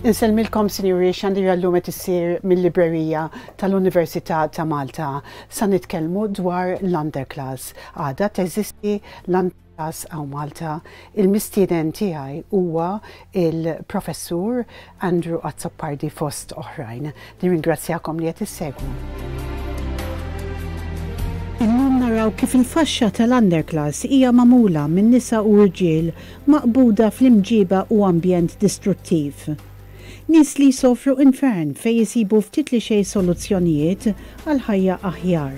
Insellmilkom sinjuri xandira llum qed issir mill-librerija tal-Università ta' Malta. Sa nitkellmu dwar l-underclass. Għadha teżisti l-underclass hawn Malta. Il-mistieden tiegħi huwa il-Professur Andrew Azzopardi fost oħrajn. Nirringrazzjakom li qed issegwu. Illum naraw kif il-faxxa tal-underclass hija magħmula minn nisa u rġiel maqbuda fl-imġiba u ambjent distruttiv. Nies li jsofru infern fejn isibu ftit li xejn soluzzjonijiet għal ħajja aħjar.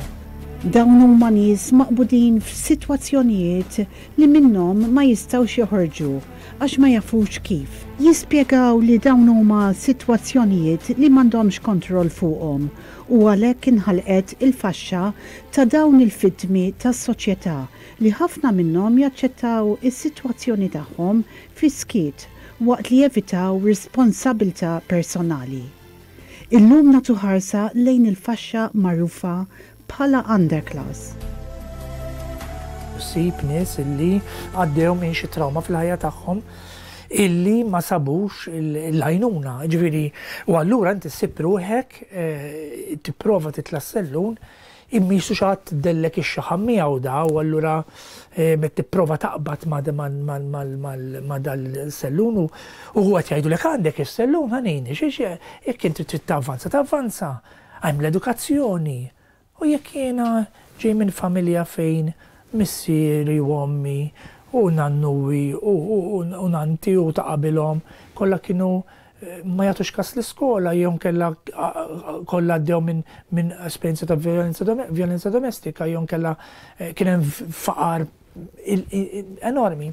Dawn huma nies maqbudin f'sitwazzjonijiet li minnhom ma jistgħux joħorġu għax ma jafux kif. Jispjegaw li dawn huma sitwazzjonijiet li m'għandhomx kontroll fuqhom u għalhekk inħalqet il-faxxa ta' dawn il-vittmi tas-soċjetà li ħafna minnhom jaċċettaw is-sitwazzjoni tagħhom fis-skiet waqt li jevitaw responsabilità personali. Illum nagħtu ħarsa lejn il-faxxa magħrufa bħala underclass. Ssib nies illi għaddew minn xi trawma fil-ħajja tagħhom illi ma sabux l-għajnuna. Ġifieri, u allura inti ssib ruħek tipprova titla' s-sellun imma qisu xi ħadd dellek ix-xaħam miegħu da u allura qed tipprova taqbad ma' dal-sellun u huwa qed jgħidulek għandek is-sellun ħanini, jekk inti trid tavvanza tavvanza. Hemm l-edukazzjoni. U jekk jiena ġej minn familja fejn missieri u ommi u nannuwi u nannti u ta' qabilhom kollha kienu ma jagħtux kas l-iskola jew inkella kollha għaddew minn esperjenza ta' vjolenza domestika jew inkella kien hemm faqar enormi.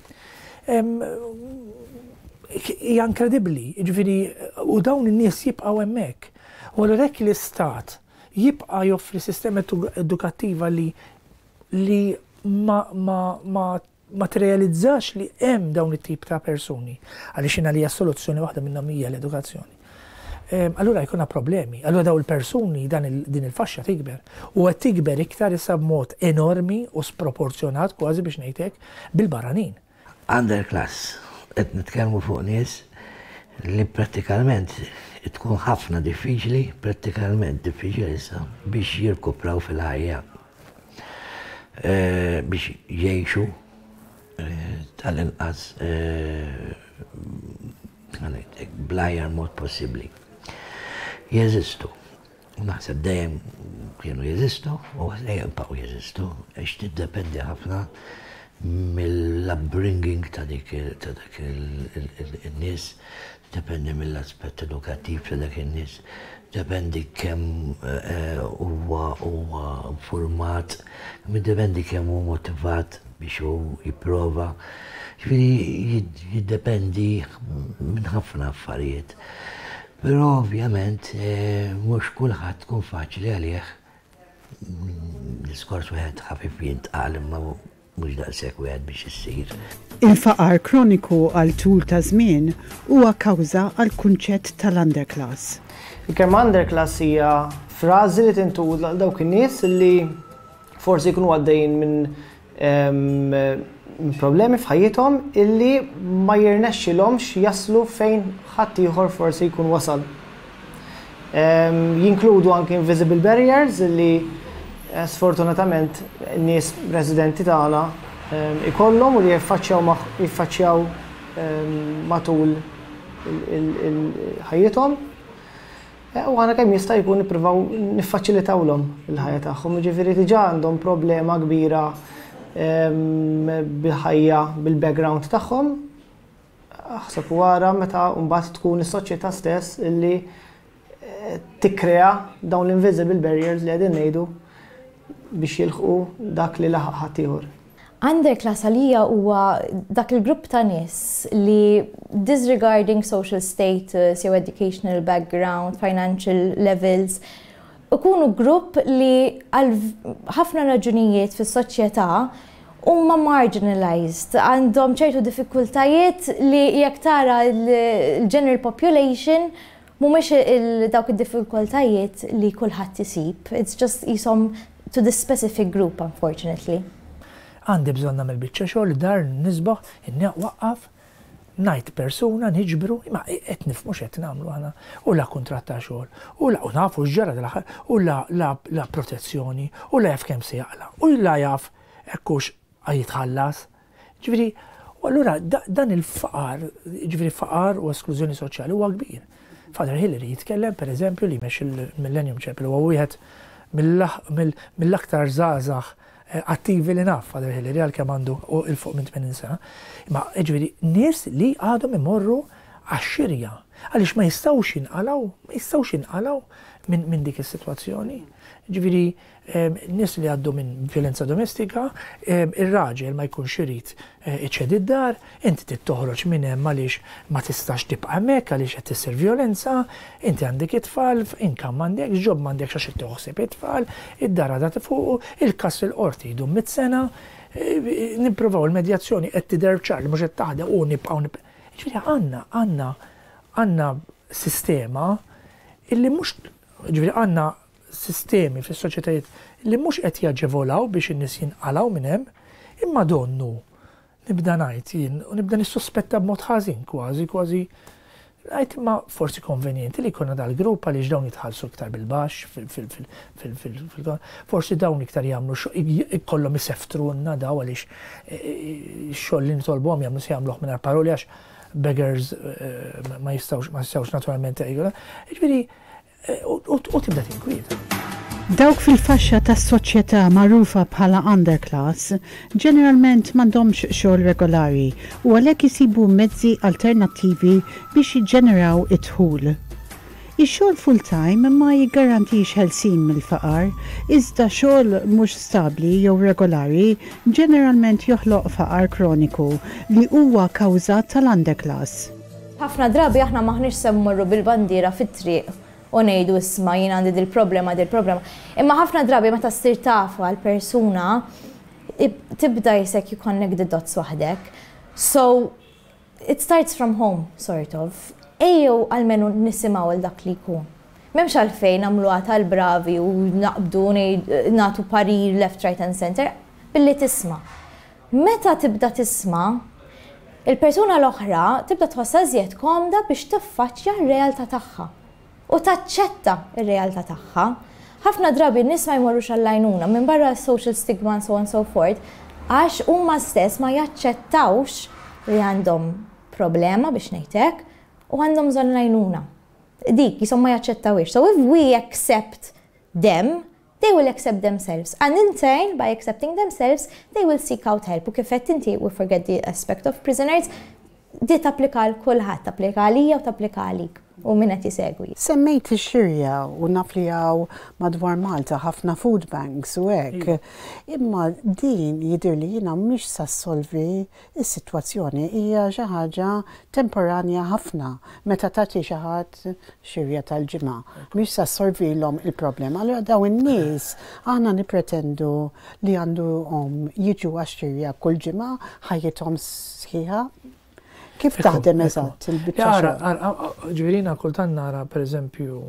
Hija inkredibbli, jiġifieri u dawn in-nies jibqgħu hemmhekk. U allura jekk l-istat jibqa' joffri sistema edukattiva li li ma ma ma ma tirrealizzax li hemm dawn it-tip ta' persuni, għaliex jien għalija s-soluzzjoni waħda minnhom hija l-edukazzjoni. Allura jkollna problemi. Allura dawn il-persuni dan din il-faxxa tikber. U qed tikber iktar issa b'mod enormi u sproporzjonat kważi biex ngħid hekk bil-barranin. Underclass, qed nitkellmu fuq nies li prattikalment tkun ħafna diffiċli, prattikalment diffiċli issa biex jirkupraw fil-ħajja, biex jgħixu tal-inqas bl-aħjar mod possibbli. Jeżistu. U naħseb dejjem kienu jeżistu u dejjem baqgħu jeżistu għax tiddependi ħafna mill-upbringing ta' dik ta' dak in-nies, tiddependi mill-aspett edukattiv ta' dak in-nies, tiddependi kemm huwa huwa infurmat, jiddependi kemm hu motivat biex hu jipprova. Ġifieri jiddependi minn ħafna affarijiet. Però ovvjament mhux kulħadd tkun faċli għalih diskors wieħed ħafif jintqal imma mhux daqshekk wieħed biex issir. Il-faqar kroniku għal tul ta' żmien huwa kawża għall-kunċett tal-underclass. Il-kelma underclass hija frażi li tintuża għal dawk in-nies li forsi jkunu għaddejjin minn problemi f'ħajjithom illi ma jirnexxilhomx jaslu fejn ħaddieħor forsi jkun wasal. Jinkludu anki invisible barriers illi eh, sfortunatament nies residenti tagħna ikollhom u li jiffaċċjaw jiffaċċjaw matul ħajjithom. U aħna kemm jista' jkun nippruvaw niffaċilitawlhom il-ħajja tagħhom, jiġifieri diġà għandhom problema kbira bil-ħajja, bil-background tagħhom. Aħseb u ara meta mbagħad tkun is-soċjetà stess illi tikkrea dawn l-invisible barriers li qegħdin ngħidu biex jilħqu dak li laħaq ħaddieħor. Underclass għalija huwa dak il-grupp ta' nies li disregarding social status jew educational background, financial levels, ikunu grupp li għal ħafna raġunijiet fis-soċjetà huma marginalized, għandhom ċertu diffikultajiet li jekk tara l-general population mhumiex dawk id-diffikultajiet li kulħadd isib. It's just qishom to this specific group, unfortunately. Għandi bżonn nagħmel biċċa xogħol, dar nisbaħ, waqqaf. Ngħid persuna niġbru, imma qed nifhmu x'qed nagħmlu aħna, u la kuntratt ta' xogħol, u la u nafu x'ġara dal-aħħar, u la la la protezzjoni, u la jaf kemm se jaqla', u la jaf hekk hux jitħallas. Ġifieri, u allura dan il-faqar, ġifieri faqar u esklużjoni soċjali huwa kbir. Father Hillary jitkellem pereżempju li jmexxi l-Millennium Chapel huwa wieħed mill-aktar żgħażagħ attivi li naf Father Hillary għalkemm għandu 'il fuq minn 80 sena. Imma jiġifieri nies li għadhom imorru għax-xirja għaliex ma jistgħux jinqalgħu, ma jistgħux jinqalgħu minn dik is-sitwazzjoni. Jiġifieri nies li għaddu minn vjolenza domestika, ir-raġel ma jkunx irid iċedi d-dar, inti trid toħroġ minn hemm għaliex ma tistax tibqa' hemmhekk għaliex qed issir vjolenza, inti għandek it-tfal, income m'għandekx, job m'għandekx għax qed tieħu ħsieb it-tfal, id-dar għadha fuqu, il-każ fil-qorti jdum mit-sena, nippruvaw il-medjazzjoni qed tidher ċar li mhux qed taħdem u nibqgħu nib. Jiġifieri għandna għandna għandna sistema illi mhux jiġifieri għandna sistemi fis-soċjetajiet li mhux qed jaġevolaw biex in-nies jinqalgħu minn hemm, imma donnu nibda ngħid jien u nibda nissuspetta b'mod ħażin kważi, kważi ngħid imma forsi konvenjenti li jkollna dal-grupp għaliex dawn jitħallsu iktar bil-baxx fil forsi dawn iktar jagħmlu ikollhom iseftrulna daw għaliex x-xogħol li nitolbuhom jagħmlu se jagħmluh mingħajr paroli għax beggars ma jistgħux ma jistgħux naturalment. Jiġifieri U tibda tinkwieta. Dawk fil-faxxa tas-soċjetà magħrufa bħala underclass ġeneralment m'għandhomx xogħol regolari u għalhekk isibu mezzi alternattivi biex jiġġeneraw id-dħul. Ix-xogħol full-time ma jiggarantix ħelsien mill-faqar, iżda xogħol mhux stabbli jew regolari ġeneralment joħloq faqar kroniku li huwa kawża tal-underclass. Ħafna drabi aħna m'aħniex se mmorru bil-bandiera fit-triq u ngħidu isma' jien għandi dil-problema, dil-problema. Imma ħafna drabi meta ssir taf għall-persuna tibda jisek you connect the dots waħdek. So it starts from home, sort of. Ejjew almenu nisimgħu 'l dak li jkun. M'hemmx għalfejn nagħmluha tal-bravi u naqbdu nagħtu parir left, right and center, billi tisma'. Meta tibda tisma', il-persuna l-oħra tibda tħossha iżjed komda biex tiffaċċja r-realtà tagħha u taċċetta r-realtà tagħha. Ħafna drabi n-nies ma jmorrux għall-għajnuna minbarra s-social stigma and so on and so forth għax huma stess ma jaċċettawx li għandhom problema biex ngħid hekk u għandhom bżonn l-għajnuna. Dik, qishom ma jaċċettawhiex. So if we accept them, They will accept themselves. And in turn, by accepting themselves, they will seek out help. U kif għedt inti, we forget the aspect of prisoners, di tapplika għal kulħadd, tapplika għalija u tapplika għalik u min qed jisegwi. Semmejt ix-xirja u naf li hawn madwar Malta ħafna food banks u hekk. Imma din jidhirli jiena mhix sa ssolvi s-sitwazzjoni. Hija xi ħaġa temporanja ħafna meta tagħti xi ħadd xirja tal-ġimgħa. Mhix sa ssolvilhom il-problema. Allura dawn in-nies aħna nippretendu li għandhom jiġu għax-xirja kull ġimgħa ħajjithom sħiħa? Kif taħdem eżatt il-biċċa xogħol? Ġifieri jiena kultant nara pereżempju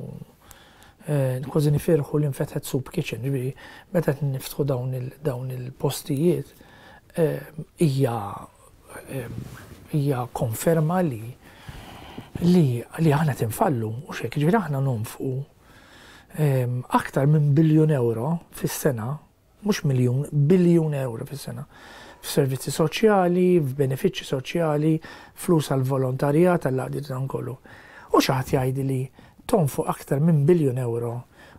kważi nifirħu li nfetħet soup kitchen, ġifieri meta qed niftħu dawn il-postijiet hija hija konferma li li li aħna qed infallu u xek, ġifieri aħna nonfqu aktar minn biljun euro fis-sena, mhux miljun, biljun euro fis-sena f'servizzi soċjali, f'benefiċċji soċjali, flus għal volontarjat għall-għaqdiet dan kollu. U xi ħadd jgħidli li tonfoq aktar minn biljun euro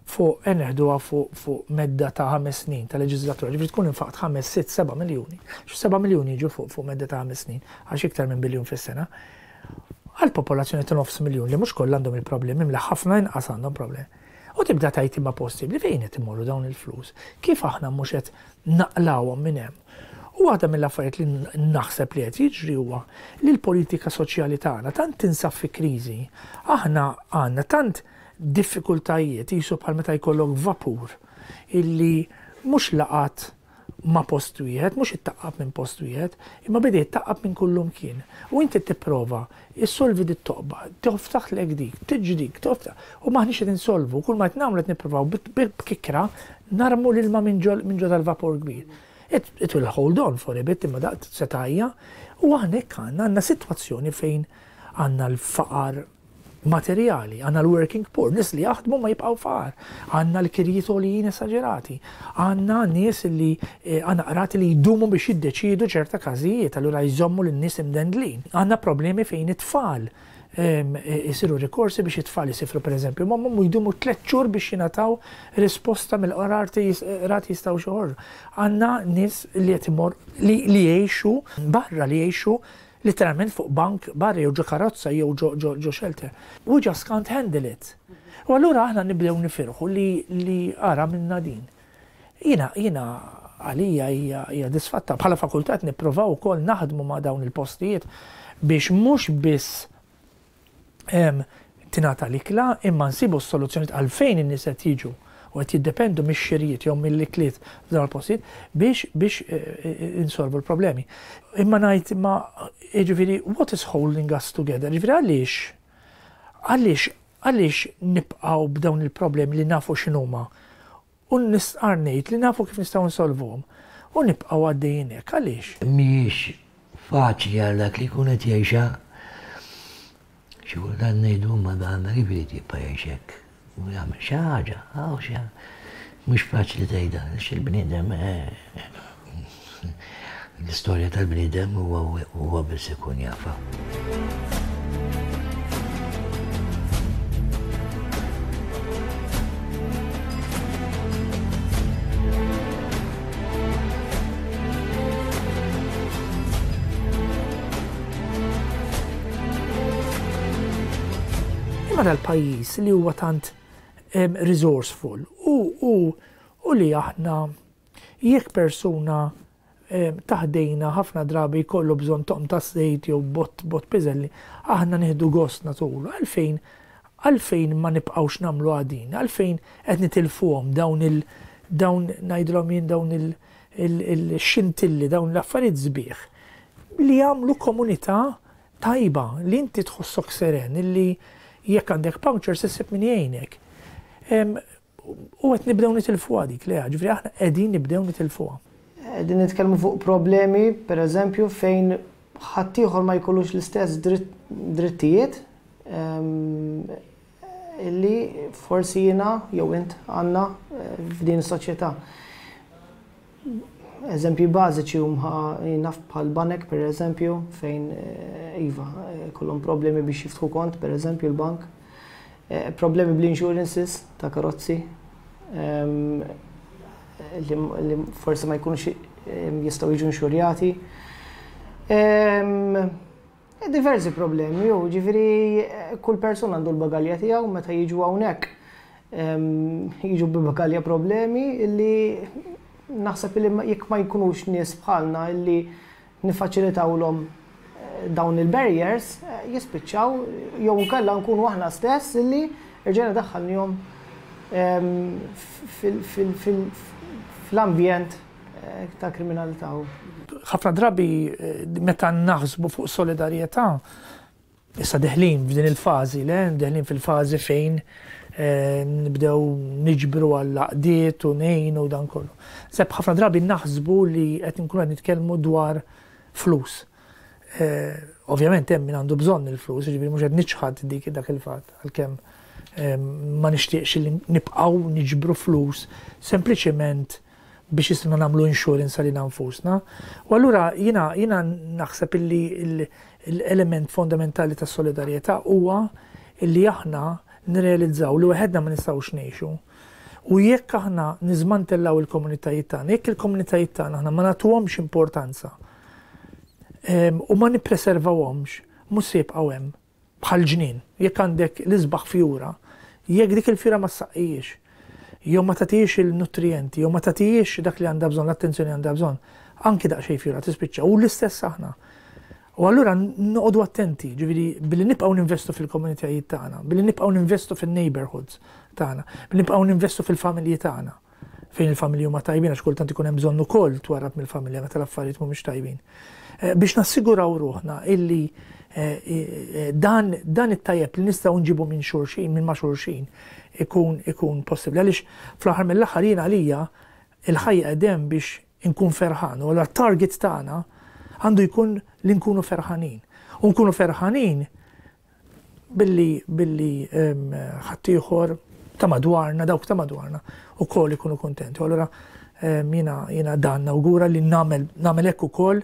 fuq e neħduha fuq fuq medda ta' ħames snin ta' leġiżlatura, ġifieri tkun infaqt ħames, sitt, seba' miljuni, xi seba' miljuni jiġu fuq fuq medda ta' ħames snin, għax iktar minn biljun fis-sena, għal popolazzjoni ta' nofs miljun li mhux kollha għandhom il-problemi, imla ħafna inqas għandhom problemi. U tibda tgħid imma possibbli fejn qed imorru dawn il-flus? Kif aħna mhux qed naqlgħuhom minn hemm? U waħda mill-affarijiet li naħseb li qed jiġri huwa li l-politika soċjali tagħna tant tinsab fi kriżi, aħna għandna tant diffikultajiet qisu bħal meta jkollok vapur illi mhux laqat ma' post wieħed, mhux ittaqqab minn post wieħed, imma beda jittaqqab minn kullumkien. U inti tipprova issolvi dit-toqba, tiftaħlek dik, tiġi dik, tiftaħ, u m'aħniex qed insolvu, kull ma qed nagħmlu qed nippruvaw b'kikra narmu l-ilma minn ġo dal-vapur kbir. It, it will hold on for a bit imma daqt se tgħajja. U aħna hekk għandna, għandna sitwazzjoni fejn għandna l-faqar materjali, għandna l-working poor, nies li jaħdmu ma jibqgħu faqar, għandna l-kirjiet għolijin esaġerati, għandna nies li eh, għandna qrati li jdumu biex jiddeċiedu ċerta każijiet, allura jżommu lin-nies imdendlin. Għandna problemi fejn it-tfal isiru rikorsi biex it-tfal isifru pereżempju m'ommhom u jdumu tlett xhur biex jingħataw risposta mill-qrati jistgħu joħorġu. Għandna nies li qed imor li jgħixu barra li jgħixu literalment fuq bank barra jew ġo karozza jew ġo shelter. We just can't handle it. U allura aħna nibdew nifirħu li li ara minna din. Jiena jiena għalija hija hija disfatta. Bħala fakultà qed nipprovaw ukoll naħdmu ma' dawn il-postijiet biex mhux biss tingħata l-ikla imma nsibu s-soluzzjonijiet għalfejn in-nies qed jiġu u qed jiddependu mix-xirjiet jew mill-ikliet f'dawn il-postijiet biex biex insolvu l-problemi. Imma ngħid imma jiġifieri what is holding us together? Jiġifieri għaliex għaliex għaliex nibqgħu b'dawn il-problemi li nafu x'inhuma u nistqarr ngħid li nafu kif nistgħu nsolvuhom u nibqgħu għaddejjin hekk. Għaliex? Mhijiex faċli għal dak li jkun qed jgħixha. Xi kultant ngħidu imma dan kif irid jibqa' jgħix hekk u jagħmel xi ħaġa, hawn xi mhux faċli tgħidha għax il-bniedem l-istorja tal-bniedem huwa huwa biss ikun jafha. Imma dal-pajjiż li huwa tant resourceful u, u, u li aħna jekk persuna ta' ħdejna ħafna drabi jkollu bżonn toqm ta' żejt jew bott bott piżelli, aħna nieħdu gost nagħtulu. Għalfejn għalfejn ma nibqgħux nagħmluha din? Għalfejn qed nitilfuhom dawn il dawn ngħidilhom jien dawn il il-xintilli, dawn l-affarijiet sbieħ li jagħmlu komunità tajba, li inti tħossok seren, illi jekk għandek puncture se ssib min jgħinek. U qed nibdew nitilfuha dik, Lea, ġifieri aħna qegħdin nibdew nitilfuha. Qegħdin nitkellmu fuq problemi, per eżempju, fejn ħaddieħor ma jkollux l-istess drittijiet illi forsi jiena jew int għandna f'din is-soċjetà. Eżempji bażiċi huma jien naf bħal banek per eżempju fejn iva jkollhom problemi biex jiftħu kont per eżempju l-bank. Problemi bl-insurances ta' karozzi li forsi ma jkunux jistgħu jiġu inxurjati. Diversi problemi, u ġifieri kull persuna għandu l-bagalja tiegħu meta jiġu hawnhekk jiġu bi bagalja problemi illi naħseb illi jekk ma jkunux nies bħalna illi nifaċilitawlhom dawn il-barriers jispiċċaw jew inkella nkunu aħna stess illi rġajna daħħalnihom fl-ambjent ta' kriminalità. Ħafna drabi meta naħsbu fuq solidarjetà, issa deħlin f'din il-fażi, le, deħlin fil-fażi fejn nibdew niġbru għall-għaqdiet u ngħinu u dan kollu. Seb ħafna drabi naħsbu li qed nkunu qed nitkellmu dwar flus. Ovvjament hemm min għandu bżonn il-flus, jiġifieri mhux qed niċħad dik dak il-fatt għalkemm ma nixtieqx li nibqgħu niġbru flus sempliċement biex isna nagħmlu insurance għalina nfusna. U allura jiena jiena naħseb illi l-element fondamentali tas-solidarjetà huwa illi aħna nirrealizzaw li waħedna ma nistgħux ngħixu. U jekk aħna niżmantellaw il-komunitajiet tagħna, jekk il-komunitajiet tagħna aħna ma nagħtuhomx importanza u ma nippreservawhomx, mhux se jibqgħu hemm. Bħal ġnien, jekk għandek l-isbaħ fjura, jekk dik il-fjura ma ssaqqihiex, jew ma tagħtihiex il-nutrijenti, jew ma tagħtihiex dak li għandha bżonn, l-attenzjoni li għandha bżonn, anki daqsxejn fjura tispiċċa. U l-istess aħna. U allura noqogħdu attenti, ġifieri billi nibqgħu ninvestu fil-komunitajiet tagħna, billi nibqgħu ninvestu fin-neighborhoods tagħna, billi nibqgħu ninvestu fil-familji tagħna. fejn il-familji huma tajbin għax kultant ikun hemm bżonn ukoll twarrab mill-familja meta l-affarijiet mhumiex tajbin. Eh, biex nassiguraw ruħna illi eh, eh, dan, dan it-tajjeb li nistgħu nġibu minn xulxin, minn ma' xulxin, ikun ikun possibbli. Għaliex fl-aħħar mill-aħħar jien għalija il-ħajja qegħdem biex Inkun ferħan. U allura t-target tagħna għandu jkun li nkunu ferħanin. U nkunu ferħanin billi billi ħaddieħor ta' madwarna, dawk ta' madwarna ukoll ikunu kuntenti. U allura jiena jiena dan nawgura li nagħmel nagħmel hekk ukoll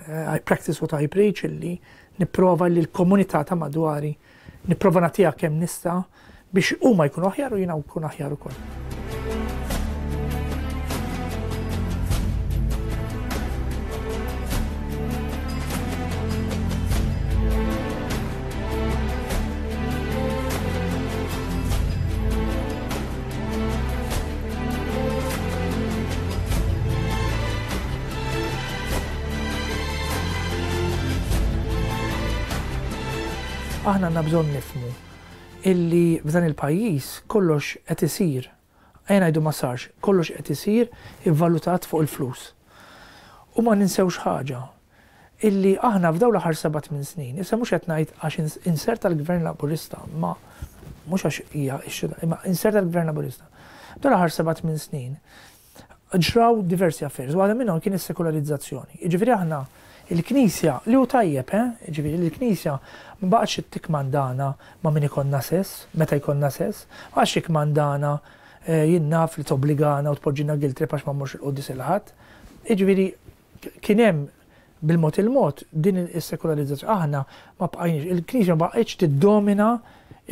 I practice what I preach illi nipprova li l-komunità ta' madwari nipprova nagħtiha kemm nista' biex huma jkunu aħjar u jiena nkun aħjar ukoll. Aħna għandna bżonn nifhmu illi f'dan il-pajjiż kollox qed isir, ejja ngħidu ma sarx, kollox qed isir ivvalutat fuq il-flus. U ma ninsewx ħaġa, illi aħna f'dawn l-aħħar seba' tmien snin, issa mhux qed ngħid għax inserta l-Gvern Laburista, imma mhux għax hija x-xita, imma inserta l-Gvern Laburista. F'dawn l-aħħar seba' tmien snin ġraw diversi affarijiet, waħda minnhom kien is-sekularizzazzjoni. Jiġifieri aħna il-Knisja, li hu tajjeb, eh, jiġifieri li l-Knisja ma baqgħetx tikkmandana ma' min ikollna sess, meta jkollna sess, ma baqgħetx tikkmandana jien naf li tobbligana u tpoġġilna guilt trip għax ma mmorx il-quddies il-Ħadd. Jiġifieri kien hemm bil-mod il-mod din is-sekularizzazzjoni. Aħna ma bqajniex, il-Knisja ma baqgħetx tiddomina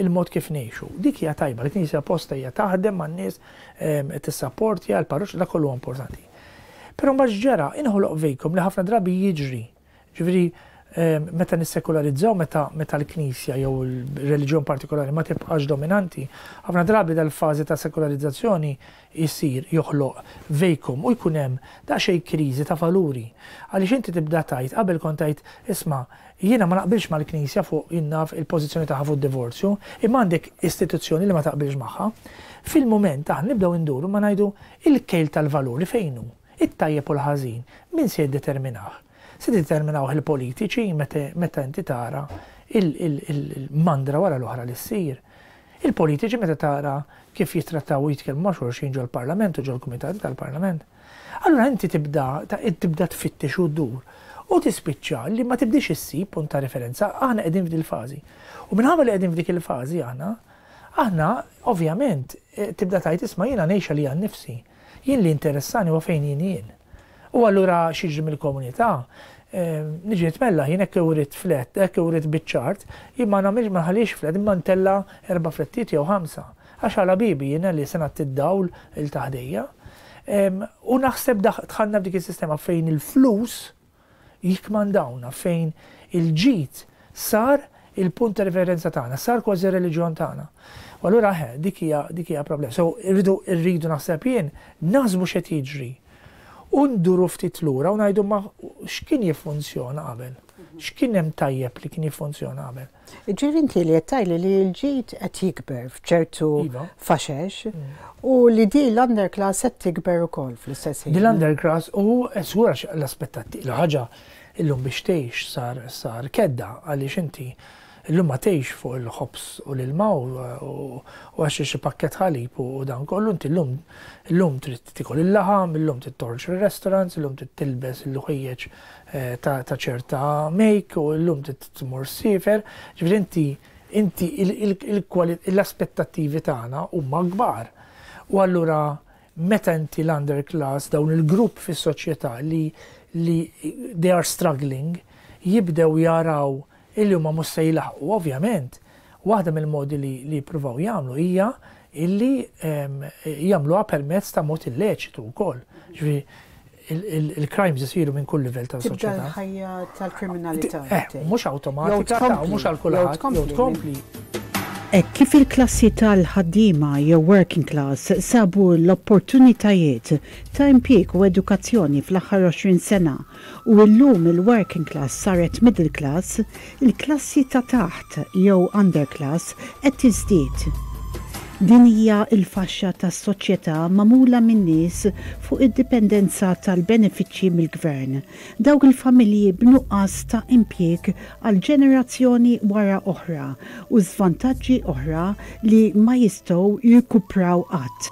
il-mod kif ngħixu. Dik hija tajba, il-Knisja posta hija taħdem man-nies, tissapportja l-parroċċa, dak kollu huwa importanti. Però mbagħad x'ġara? Inħoloq vacuum li ħafna drabi jiġri. Ġifieri meta nissekularizzaw, meta meta l-Knisja jew il-reliġjon partikolari ma tibqax dominanti, ħafna drabi dal-fażi ta' sekularizzazzjoni jsir joħloq vacuum u jkun hemm daqsxejn kriżi ta' valuri. Għaliex inti tibda tgħid, qabel kont tgħid, isma' jiena ma naqbilx mal-Knisja fuq jien naf il-pożizzjoni tagħha fuq id-divorzju, imma għandek istituzzjoni li ma taqbilx magħha. Fil-mument aħna nibdew induru ma ngħidu il-kejl tal-valuri fejn hu? It-tajjeb u l-ħażin min se jiddeterminah? Se jiddeterminawh il-politiċi meta inti tara il-mandra wara l-oħra li ssir. Il-politiċi meta tara kif jittrattaw u jitkellmu ma' xulxin ġol-Parlament u ġol-kumitati tal-Parlament. Allura inti tibda tibda tfittex u ddur u tispiċċa li ma tibdiex issib punt ta' referenza. Aħna qegħdin f'dil-fażi. U minħabba li qegħdin f'dik il-fażi aħna, aħna ovvjament tibda tgħid isma' jiena ngħix għalija nnifsi. Jien li jinteressani huwa fejn jien jien. U allura x'jiġri mill-komunità? Niġi nitmellaħ jien hekk irrid flat, hekk irrid biċ-ċart, jien ma nagħmilx ma nħallix flat imma ntella' erba' flettijiet jew ħamsa. Għax għala bibi jiena li se nagħti d-dawl 'il ta' ħdejja. U naħseb dħalna f'dik is-sistema fejn il-flus jikkmandawna, fejn il-ġid sar il-punt ta' riferenza tagħna, sar kważi r-reliġjon tagħna. U allura eħe, dik hija dik hija problema. So irridu rridu naħseb jien naħsbu x'qed jiġri u nduru ftit lura u ngħidu ma x'kien jiffunzjona qabel? X'kien hemm tajjeb li kien jiffunzjona qabel? Jiġifieri inti li qed tgħidli li l-ġid qed jikber f'ċertu iva. faxex u li di l-underclass qed tikber ukoll fl-istess ħin. Di l-underclass u żgur għax l-aspettattiv l-ħaġa illum biex tgħix sar sar kedda għaliex inti illum ma tgħix fuq il-ħobż u l-ilma u għax xi pakkett ħalib u dan kollu inti llum illum trid tikol il-laħam, illum trid toħroġ fir-restaurants, illum trid tilbes il-ħwejjeġ ta' ċerta make u llum trid tmur ssiefer. Ġifieri inti inti l-aspettattivi tagħna huma kbar. U allura meta inti l-underclass, dawn il-grupp fis-soċjetà li li they are struggling, jibdew jaraw illi huma mhux se jlaħħqu, ovvjament, waħda mill-modi li li jippruvaw jagħmlu hija illi jagħmluha permezz ta' mod illeċitu wkoll. Ġifieri il-crimes isiru minn kull livell ta' soċjetà. Tibda l-ħajja tal-kriminalità. Eh, mhux awtomatika, mhux għal kulħadd, jew tkompli. Hekk kif il-klassi tal-ħaddiema jew working class sabu l-opportunitajiet ta' impjieg u edukazzjoni fl-aħħar 20 sena u illum il-working class saret middle class, il-klassi ta' taħt jew underclass qed tiżdied. Din hija l-faxxa tas-soċjetà magħmula minn nies fuq id-dipendenza tal-benefiċċji mill-gvern, dawk il-familji b'nuqqas ta' impjieg għal ġenerazzjoni wara oħra u żvantaġġi oħra li ma jistgħu jirkupraw qatt.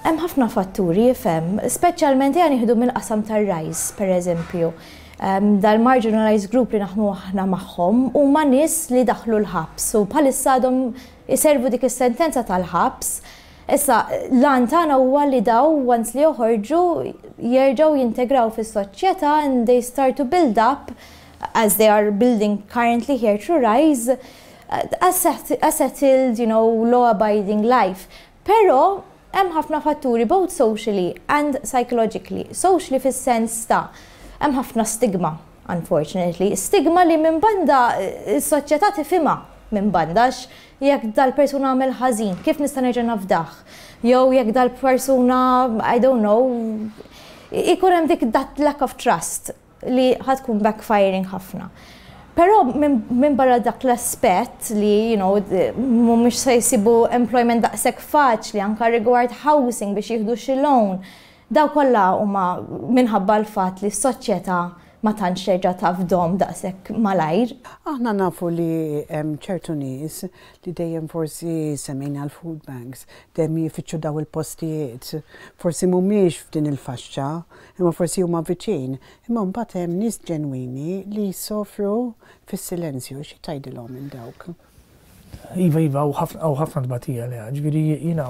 Hemm ħafna fatturi, ifhem, speċjalment ejja nieħdu mill-qasam tar-RISE, pereżempju. Dal-marginalized group li naħdmu aħna magħhom huma nies li daħlu l-ħabs u bħalissa għadhom iservu dik is-sentenza tal-ħabs. Issa, l-għan tagħna huwa li daw once li joħorġu jerġgħu jintegraw fis-soċjetà and they start to build up as they are building currently here through RISE a settled, you know, law-abiding life. Però hemm ħafna fatturi both socially and psychologically. Socially fis-sens ta' hemm ħafna stigma, unfortunately. Stigma li minn banda s-soċjetà tifhimha minn banda għax jekk dal-persuna għamel ħażin, kif nista' nerġa' nafdah? Jew jekk dal-persuna, I don't know, ikun hemm dik that lack of trust li ħa tkun backfiring ħafna. Però minn barra dak l-aspett li, you know, mhumiex se jsibu employment daqshekk faċli anka rigward housing biex jieħdu xi loan, daw kollha huma minħabba l-fatt li s-soċjetà ma tantx terġa' tafdhom daqshekk malajr. Aħna nafu li hemm ċertu nies li dejjem forsi semmejna l-food banks, dejjem jfittxu daw il-postijiet, forsi mhumiex f'din il-faxxa, imma forsi huma viċin, imma mbagħad hemm nies ġenwini li jsofru fis-silenzju, xi tgħidilhom lil dawk? Iva, iva, hawn ħafna tbatija le, ġifieri jiena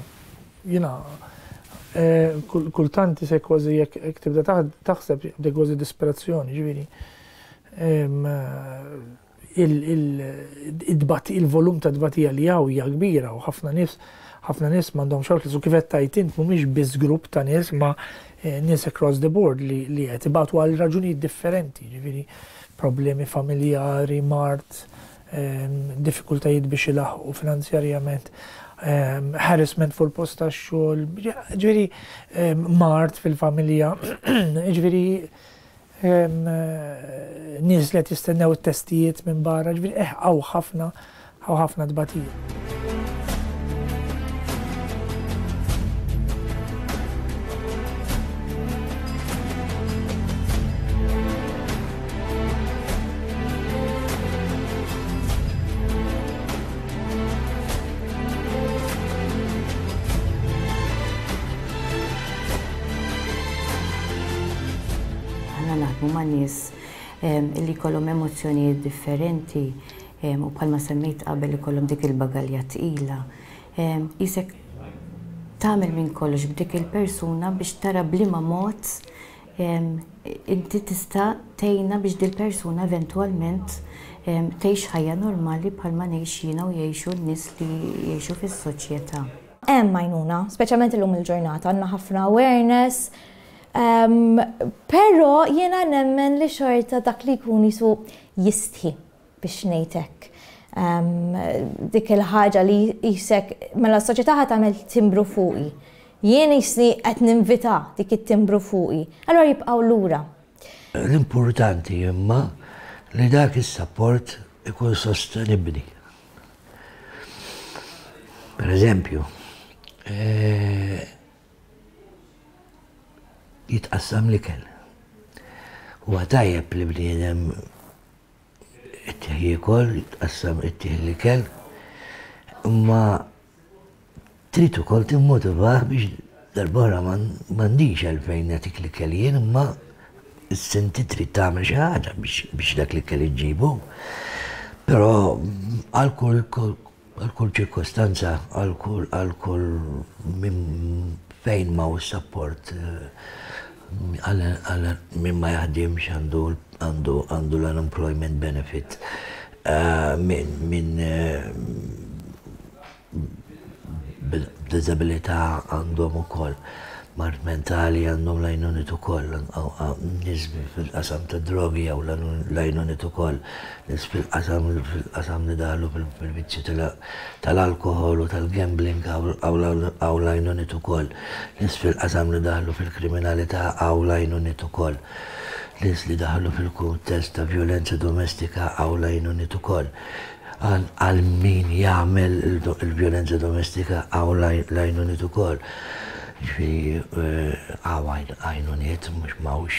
jiena eh, kultant isek kważi jekk tibda taħseb jibda kważi disperazzjoni, ġifieri il-volum ta' tbatija li hawn hija kbira u ħafna nies ħafna nies m'għandhomx outlets u kif qed tgħid int mhumiex biss grupp ta' nies ma eh, nies across the board li li qed ibatu għal raġunijiet differenti, ġifieri problemi familjari, mard, ehm, diffikultajiet biex ilaħqu finanzjarjament, ehm, harassment fuq il-post tax-xogħol, ġifieri ehm, mard fil-familja, ġifieri Nies li qed jistennew it-testijiet minn barra, ġifieri eh hawn ħafna hawn ħafna tbatija. Aħna naħdmu ma' nies li jkollhom emozzjonijiet differenti u bħalma semmejt qabel ikollhom dik il-bagalja tqila. Qisek tagħmel minn kollox b'dik il-persuna biex tara b'liema mod inti tista' tgħinha biex dil-persuna eventwalment tgħix ħajja normali bħalma ngħix jiena u jgħixu n-nies li jgħixu fis-soċjetà. Hemm għajnuna, speċjalment illum il-ġurnata, għandna ħafna awareness, però jiena nemmen li xorta dak li jkun jisu jistħi biex ngħid hekk. Dik il-ħaġa li jisek, mela s-soċjetà ħa tagħmel timbru fuqi. Jien jisni qed ninvita dik it-timbru fuqi. Allura jibqgħu lura. L-importanti imma li dak is-sapport ikun sostenibbli. Per eżempju, eh, jitqassam l-ikel. Huwa tajjeb li bniedem ittih jiekol, jitqassam ittih l-ikel, imma trid ukoll timmotivah biex darb'oħra m'għandix għalfejn nagħtik l-ikel jien imma inti trid tagħmel xi ħaġa biex dak l-ikel iġġibu. Però għal kull għal kull ċirkostanza, għal kull għal kull minn fejn ma sapport għal min ma jaħdimx għandu għandu għandu l-unemployment benefit min b'diżabilità għandhom ukoll mard mentali għandhom l-għajnuniet ukoll, nies fil-qasam tad-drogi hawn l-għajnuniet ukoll, nies fil-qasam fil-qasam li daħlu fil-vizzju tal-alkoħol u tal-gambling hawn l-għajnuniet ukoll, nies fil-qasam li daħlu fil-kriminalità hawn l-għajnuniet ukoll, nies li daħlu fil-kuntest ta' vjolenza domestika hawn l-għajnuniet ukoll. Għal min jagħmel il-vjolenza domestika hawn l-għajnuniet ukoll. Ġifieri hawn għajnuniet mhux m'hawnx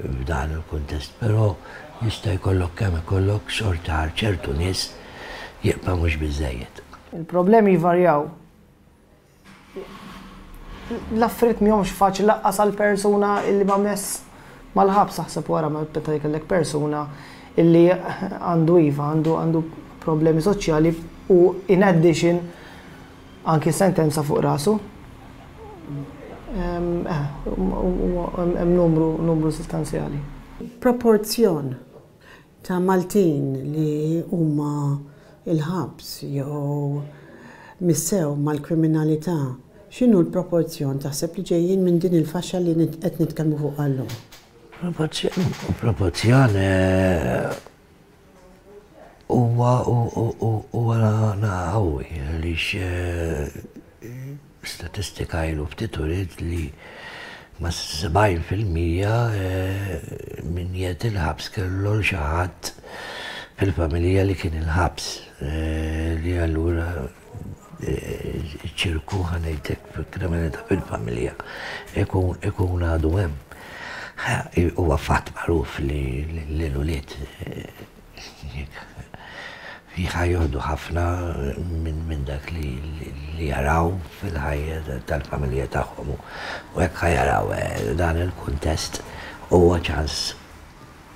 f'dan il-kuntest, però jista' jkollok kemm ikollok xorta għal ċertu nies jibqa' mhux biżżejjed. Il-problemi jvarjaw. L-affarijiet mihomx faċli lanqas għal persuna illi ma mess mal-ħabs aħseb wara meta jkollek persuna illi għandu iva, għandu għandu problemi soċjali u in addition anki sentenza fuq rasu. Hemm numru numru sostanzjali. Proporzjon ta' Maltin li huma l-ħabs jew missew mal-kriminalità, x'inhu l-proporzjon taħseb li ġejjin minn din il-faxxa li qed nitkellmu fuqha llum? Proporzjon huwa huwa qawwi għaliex Statistika ilu ftit uriet li ma' 70% min qiegħed il-ħabs kellu 'l xi ħadd fil-familja li kien il-ħabs li allura ċ-ċirku ħa ngħid hekk kriminalità fil-familja ikun ikun għadu hemm. Huwa fatt magħruf li l-ulied Ħa joħdu ħafna minn dak li jaraw fil-ħajja tal-familja tagħhom u hekk ħa jaraw dan il-kuntest huwa ċans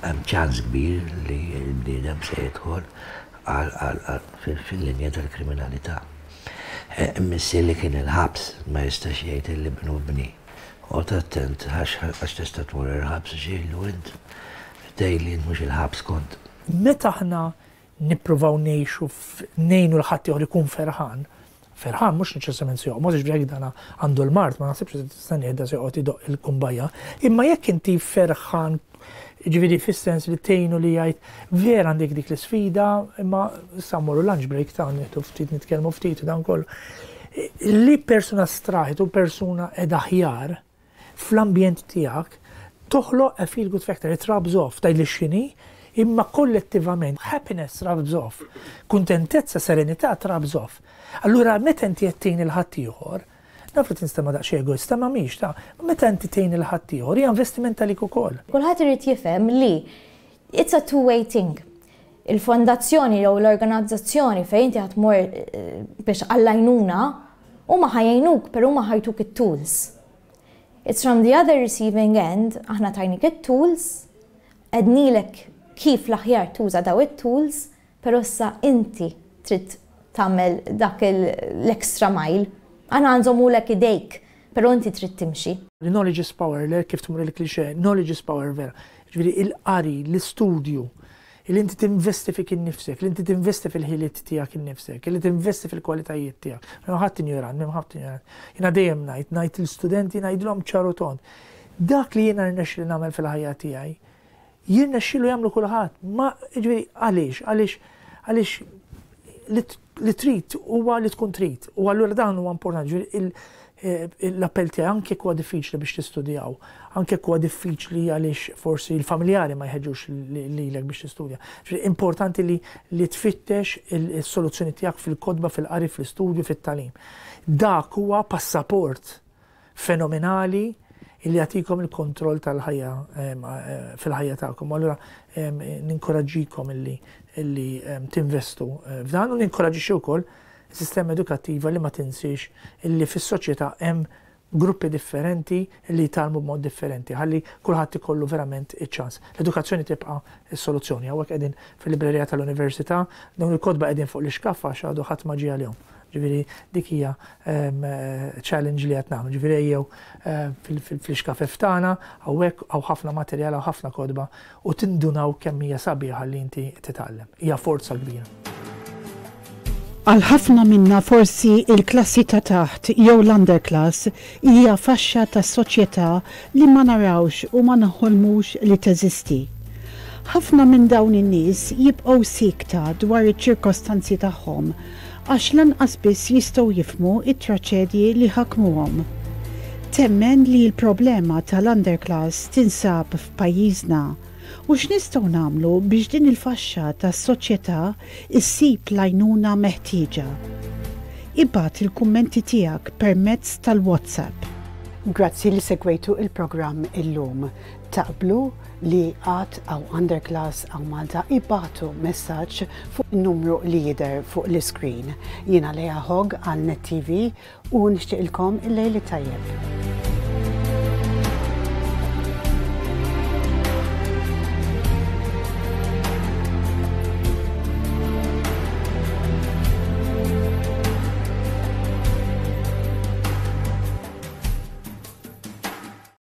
hemm ċans kbir li l-bniedem se jidħol fil-linja tal-kriminalità. Missier li kien il-ħabs ma jistax jgħid li ibnu bni. Oqgħod attent għax tista' tmur il-ħabs għax jgħidlu int tgħid li int mhux il-ħabs kont. Meta aħna nippruvaw ngħixu ngħinu 'l ħaddieħor ikun ferħan, ferħan mhux neċessarjament se joqmos, jiġifieri jekk dan għandu l-mard ma naħsibx li tistennieh da se joqgħod idoqq il-kumbajja, imma jekk inti ferħan jiġifieri fis-sens li tgħinu li jgħid vera għandek dik l-isfida imma issa mmorru lunch break ta' nieħdu ftit nitkellmu ftit u dan kollu. Li persuna straħet u persuna qiegħda aħjar, fl-ambjent tiegħek, toħloq a feel good factor, it rubs off, tgħidli x'inhi, imma kollettivament happiness rubs off, kuntentezza, serenità rubs off. Allura meta inti qed tgħin lil ħaddieħor, naf li tinstema' daqsxejn egoista, ma mhix ta' meta inti tgħin lil ħaddieħor hija investiment għalik ukoll. Kulħadd irid jifhem li it's a two way thing. Il-fondazzjoni jew l-organizzazzjoni fejn inti ħa tmur biex għall-għajnuna, huma ħa jgħinuk però huma ħa jtuk it-tools. It's from the other receiving end, aħna tajnik it-tools, għednilek kif l-aħjar tuża daw it-tools, però issa inti trid tagħmel dak l-extra mile. Aħna ħa nżommulek idejk, però inti trid timxi. Knowledge is power, le kif tmur il-cliché, knowledge is power vera. Ġifieri il-qari, l-istudju, li inti tinvesti fik innifsek, li inti tinvesti fil-ħiliet tiegħek innifsek, li tinvesti fil-kwalitajiet tiegħek. M'hemm ħadd injorant, m'hemm ħadd injorant. Jiena dejjem ngħid, ngħid l-istudenti ngħidilhom ċar u tond. Dak li jiena rnexxieli nagħmel fil-ħajja tiegħi, jirnexxielu jagħmlu kulħadd. Ma ġifieri għaliex? Għaliex għaliex li trid huwa li tkun trid. U allura dan huwa importanti. Ġifieri l-appell tiegħi anke jekk huwa diffiċli biex tistudjaw, anke jekk huwa diffiċli għaliex forsi l-familjari ma jħeġġux lilek biex tistudja. Ġifieri importanti li li tfittex is-soluzzjoni tiegħek fil-kotba, fil-qari, fl-istudju, fit-tagħlim. Dak huwa passaport fenomenali li jagħtikom il-kontroll tal-ħajja fil-ħajja tagħkom. Allura ninkoraġġikom illi illi tinvestu f'dan u ninkoraġġixxi wkoll sistema edukattiva li ma tinsiex illi fis-soċjetà hemm gruppi differenti li jitgħallmu b'mod differenti ħalli kulħadd ikollu verament iċ-ċans. L-edukazzjoni tibqa' s-soluzzjoni. Hawnhekk qegħdin fil-librerija tal-Università, dawn il-kotba qegħdin fuq l-ixkaffa għax għadu ħadd ma ġie għalihom. Ġifieri dik hija challenge li qed nagħmlu. Ġifieri ejjew fl-ixkafef tagħna hawnhekk hawn ħafna materjal, hawn ħafna kotba u tindunaw kemm hija sabiħa li inti titgħallem. Hija forza kbira. Għal ħafna minna forsi l-klassi ta' taħt jew l-underclass hija faxxa tas-soċjetà li ma narawx u ma noħolmux li teżisti. Ħafna minn dawn in-nies jibqgħu siekta dwar iċ-ċirkostanzi tagħhom għax lanqas biss jistgħu jifhmu t-traċedji li ħakmuhom. Temmen li l-problema tal-underclass tinsab f'pajjiżna u x'nistgħu nagħmlu biex din il-faxxa tas-soċjetà issib l-għajnuna meħtieġa? Ibgħat il-kummenti tiegħek permezz tal-WhatsApp. Grazzi li segwejtu il-programm illum. Taqblu? li għad hawn underclass hawn Malta ibagħtu messaġġ fuq in-numru li jidher fuq l-iscreen. Jiena Lea Hogg għal Net TV u nixtieqilkom il-lejl it-tajjeb.